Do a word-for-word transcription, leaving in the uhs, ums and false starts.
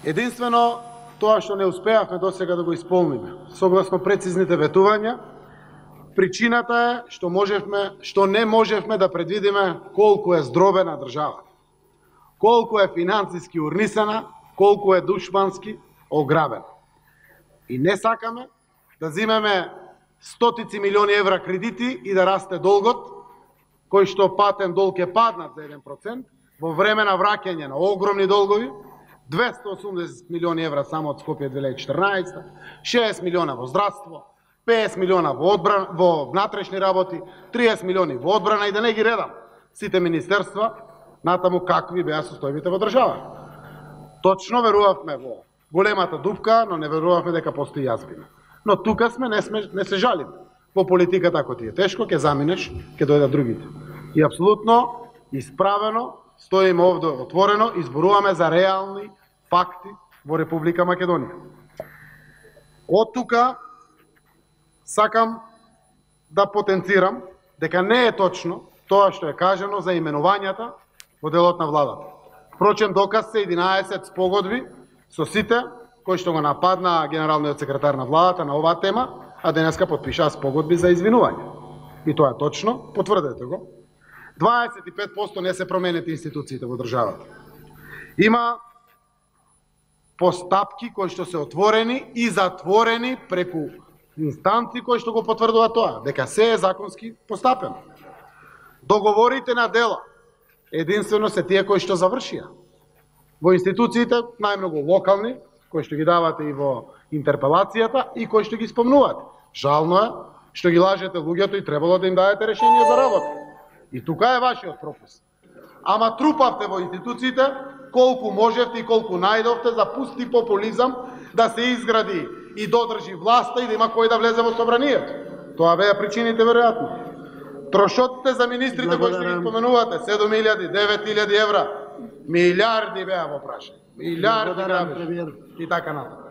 Единствено, тоа што не успеавме досега да го исполниме, согласно прецизните ветувања, причината е што можевме, што не можевме да предвидиме колку е здробена држава, колку е финансиски урнисана, колку е душмански ограбена. И не сакаме да зимеме стотици милиони евра кредити и да расте долгот, кој што патен долг е паднат за еден процент, во време на враќање на огромни долгови, двесте и осумдесет милиони евра само од Скопје две илјади и четрнаесета, шеесет милиона во здравство, петдесет милиона во одбрана, во внатрешни работи, триесет милиони во одбрана и да не ги редам сите министерства, натаму какви беа состојбите во држава. Точно верувавме во големата дупка, но не верувавме дека постои јазбина. Но тука сме, не, сме, не се жалиме. По политиката, ако ти е тешко, ќе заминеш, ќе дојдат другите. И апсолутно исправено стоиме овде отворено и зборуваме за реални факти во Република Македонија. Од тука сакам да потенцирам дека не е точно тоа што е кажано за именувањата во делот на владата. Впрочем, доказ се единаесет спогодби со сите кои што го нападна генералниот секретар на владата на оваа тема, а денеска потпишаа спогодби за извинување. И тоа е точно, потврдете го. дваесет и пет проценти не се променети институциите во државата. Има постапки кои што се отворени и затворени преку инстанци кои што го потврдуваат тоа, дека се е законски постапено. Договорите на дела единствено се тие кои што завршија. Во институциите, најмногу локални, кои што ги давате и во интерпелацијата и кои што ги спомнувате. Жално е што ги лажете луѓето и требало да им дадете решение за работа. И тука е вашиот пропуск. Ама трупавте во институциите колку можевте и колку најдовте за пусти популизам да се изгради и додржи власта и да има кој да влезе во собранието. Тоа беа причините веројатно. Трошотите за министрите кои што ги споменувате, седум илјади, девет илјади евра, милиарди беа во прашање. Милиарди грабеж и така натаму.